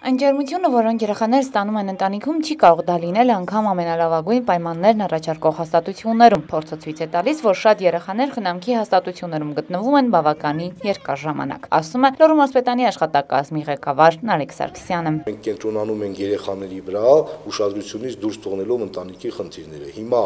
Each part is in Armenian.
Այն ջերմությունը, որոնք երեխաները ստանում են ընտանիքում, չի կարող դա լինել անգամ ամենալավագույն պայմաններն առաջարկող հաստատություններում։ Փորձը ցույց է տալիս, որ շատ երեխաներ խնամքի հաստատություններում գտնվում են բավականին երկար ժամանակ, ասում է Լոռու մարզպետանի աշխատակազմի ղեկավար Նարեկ Սարգսյանը։ Մենք կենտրոնանում ենք երեխաների վրա, ուշադրությունից դուրս թողնելով ընտանիքի խնդիրները։ Հիմա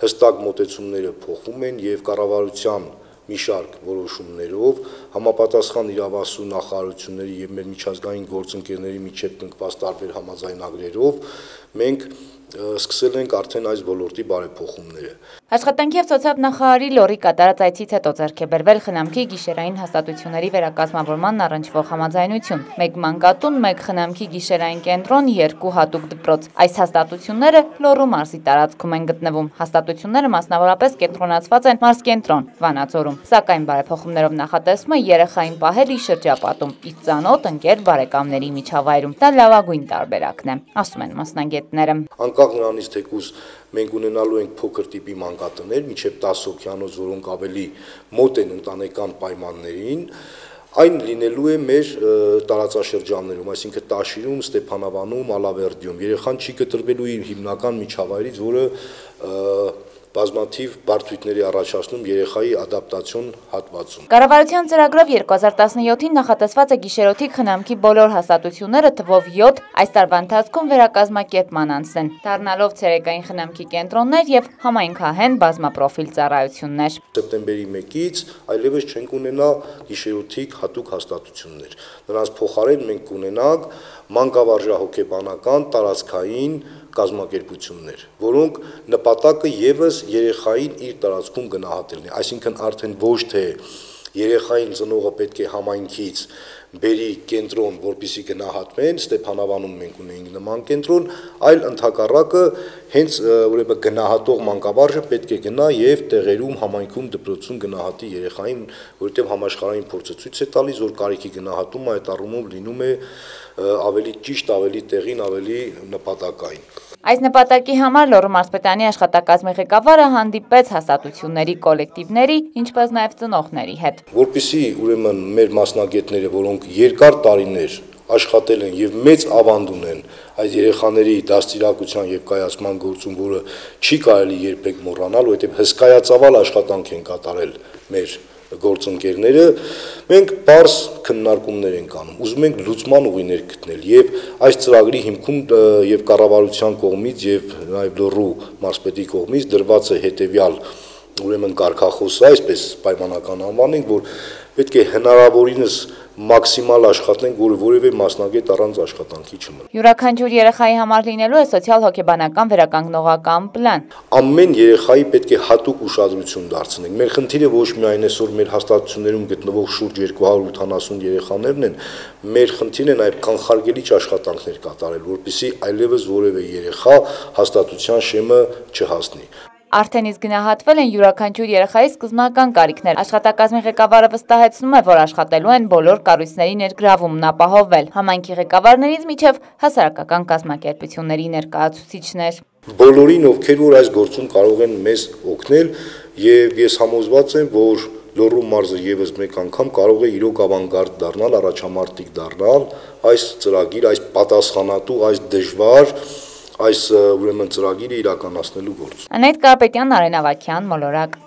հստակ մոտեցումները փոխում են եւ կառավարության մի շարք որոշումներով համապատասխան իրավասու նախարարությունների եւ մեր միջազգային գործընկերների միջև կնքված տարբեր համաձայնագրերով մենք սկսել ենք արդեն այս ոլորտի բարեփոխումները։ Աշխատանքի եւ սոցիալ նախարարի Լոռի կատարած այցից հետո ձեռք է բերվել խնամքի գիշերային հաստատությունների վերակազմավորման առնչվող համաձայնություն։ 1 մանկատուն, 1 խնամքի գիշերային կենտրոն, 2 հատուկ դպրոց։ Այս հաստատությունները Լոռու մարզի տարածքում են գտնվում։ Հաստատությունները մասնավորապես կենտրոնացված են մարզկենտրոն Վանաձորում։ Սակայն բարեփոխումներով նախատեսվում է երեխային պահել իր շրջապատում, իր ծանոթ ընկեր բարեկամների միջավայրում։ Դա լավագույն տարբերակն է, ասում են մասնագետները։ Անկախ նրանից թեկուզ մենք ունենալու ենք փոքր տիպի մանկատներ, մինչև 10 հոգյանոց, որոնք ավելի մոտ են ընտանեկան պայմաններին, այն լինելու է մեր տարածաշրջաններում, այսինքն Տաշիրում, Ստեփանավանում, Ալավերդիում։ Երեխան չի կտրվելու իր հիմնական միջավայրից, որը բազմաթիվ բարդությունների առաջացնում երեխայի ադապտացիոն հատվածում։ Կառավարության ծրագրով 2017-ին նախատեսված է գիշերօթիկ խնամքի բոլոր հաստատությունները թվով 7 այս տարվա ընթացքում վերակազմակերպման անցնեն, դառնալով ցերեկային խնամքի կենտրոններ եւ համայնքահեն բազմապրոֆիլ ծառայություններ։ Սեպտեմբերի 1-ից այլևս չենք ունենա գիշերօթիկ հատուկ հաստատություններ։ Նրանց փոխարեն մենք կունենանք մանկավարժահոգեբանական տարածքային կազմակերպություններ, որոնք նպատակը եւս երեխային իր տարածքում գնահատելն է, այսինքն արդեն ոչ թե երեխային ծնողը պետք է համայնքից բերի կենտրոն, որպեսզի գնահատվեն, Ստեփանավանում մենք ունենք նման կենտրոն, այլ ընդհակառակը հենց ուրեմն գնահատող մանկավարժը պետք է գնա եւ տեղերում համայնքում դպրոցում գնահատի երեխային, որովհետեւ համաշխարհային փորձը ցույց է տալիս, որ կարիքի գնահատումը այդ առումով լինում է ավելի ճիշտ, ավելի տեղին, ավելի նպատակային։ Այս նպատակի համար Լոռու մարզպետանի աշխատակազմի ղեկավարը հանդիպեց հաստատությունների կոլեկտիվների, ինչպես նաև ծնողների հետ։ Որպեսզի ուրեմն մեր մասնագետները, որոնք երկար տարիներ աշխատել են եւ մեծ ավանդ ունեն այս երեխաների դաստիարակության եւ կայացման գործում, որը չի կարելի երբեք մոռանալ, որովհետեւ հսկայածավալ աշխատանք են կատարել մեր գործընկերները, մենք բարձ քննարկումներ ենք անում, ուզում ենք լուծման ուղիներ գտնել եւ այս ծրագրի հիմքում եւ կառավարության կողմից եւ նաեւ Լոռու մարզպետի կողմից դրված է հետեւյալ ուրեմն կարգախոսը, այսպես պայմանական անվանենք, որ պետք է հնարավորինս մաքսիմալ աշխատենք, որ որևէ մասնագետ առանց աշխատանքի չմնա։ Յուրաքանչյուր երեխայի համար լինելու է սոցիալ-հոգեբանական վերականգնողական պլան։ Ամեն երեխայի պետք է հատուկ ուշադրություն դարձնենք։ Մեր խնդիրը ոչ միայն այսօր մեր հաստատություններում գտնվող շուրջ 280 երեխաներն են, մեր խնդիրն է նաև կանխարգելիչ աշխատանքներ կատարել, որպեսզի այլևս որևէ երեխա հաստատության շեմը չհասնի։ Արդեն իսկ գնահատվել են յուրաքանչյուր երեխայի սկզբնական կարիքներ։ Աշխատակազմի ղեկավարը վստահեցնում է, որ աշխատելու են բոլոր կառույցների ներգրավումն ապահովել, համայնքի ղեկավարներից մինչև հասարակական կազմակերպությունների ներկայացուցիչներ։ Բոլորին, ովքեր որ այս գործում կարող են մեզ օգնել, եւ ես համոզված եմ, որ Լոռու մարզը եւս մեկ անգամ կարող է իրոք ավանգարդ դառնալ, առաջամարտիկ դառնալ այս ծրագիր, այս պատասխանատու, այս դժվար այս ուրեմն ծրագիրը իրականացնելու գործ։ Անետ Կարապետյան, Արեն Ավագյան, Մոլորակ։